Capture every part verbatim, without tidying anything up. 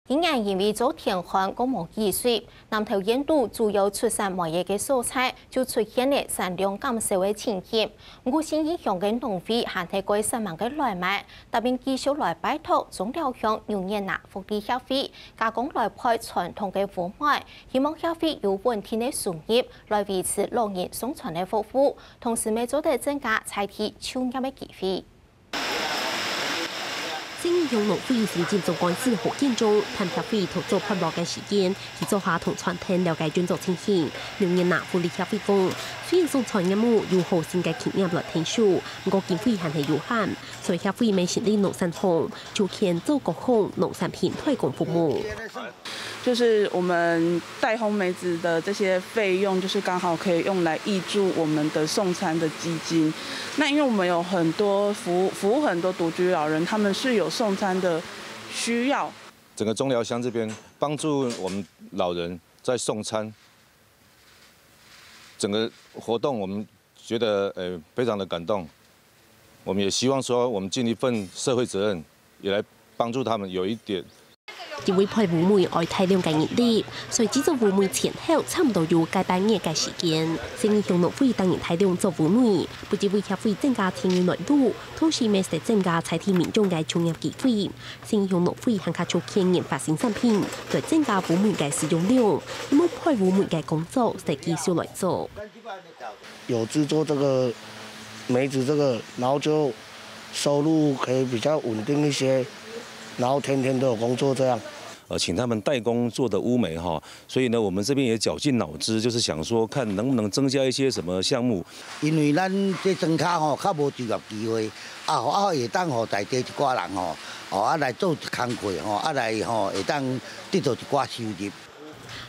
今年因為遭天旱，過無雨水，南投縣肚主要出產糜仔个所在就出現了產量減少个情形。毋過信義鄉个農會還係過煞猛个來賣，答應繼續來拜託中寮鄉牛眼嫲福利協會加工來配傳統个烏糜，希望協會有穩定个收入來維持老人送餐个服務，同時乜做得增加在地就業个機會。 信義鄉農會行政總幹事何建中探協會討作配糜个時間，去灶下同餐廳了解運作情形。牛眼嫲福利協會講，雖然送餐業務有好心个企業來𢯭手，毋過經費還係有限，所以協會乜成立農產行，就牽做各項農產品代工服務。 就是我們代烘梅子的這些費用，就是剛好可以用來挹注我們的送餐的基金。那因為我們有很多服務服務很多獨居老人，他們是有送餐的需要。整个中寮乡这边帮助我们老人在送餐，整个活动我们觉得呃非常的感动。我们也希望说我们尽一份社会责任，也来帮助他们有一点 因為配烏糜愛大量个人力，所以製作烏糜前後差毋多有個半月个時間。信義鄉農會逐日大量做烏糜，毋只為協會增加錢銀來路，同時乜係增加在地民眾个就業機會。信義鄉農會還較促進研發新產品，來增加烏糜个使用量，希望配烏糜个工作係繼續來做。有製作這個梅子這個，然後就收入可以比較穩定一些，然後天天都有工作這樣。呃，请他们代工做的烏梅哈，所以呢，我们这边也绞尽脑汁，就是想说看能不能增加一些什么项目。因為咱這庄跤吼，較無就業機會，啊，啊，會當予在地一寡人吼，哦，啊來做工課吼，啊來吼，會當得到一寡收入。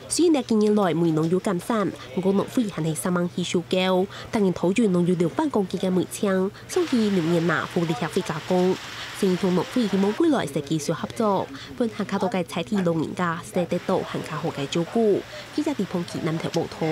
雖然近年來梅農有減產，毋過農會還係煞猛去收購，逐年討運農友六萬公斤个梅青，送去牛眼嫲福利協會加工。信義鄉農會希望未來係繼續合作，分還較多个在地老人家係得到還較好个照顧。記者李鵬奇南投報導。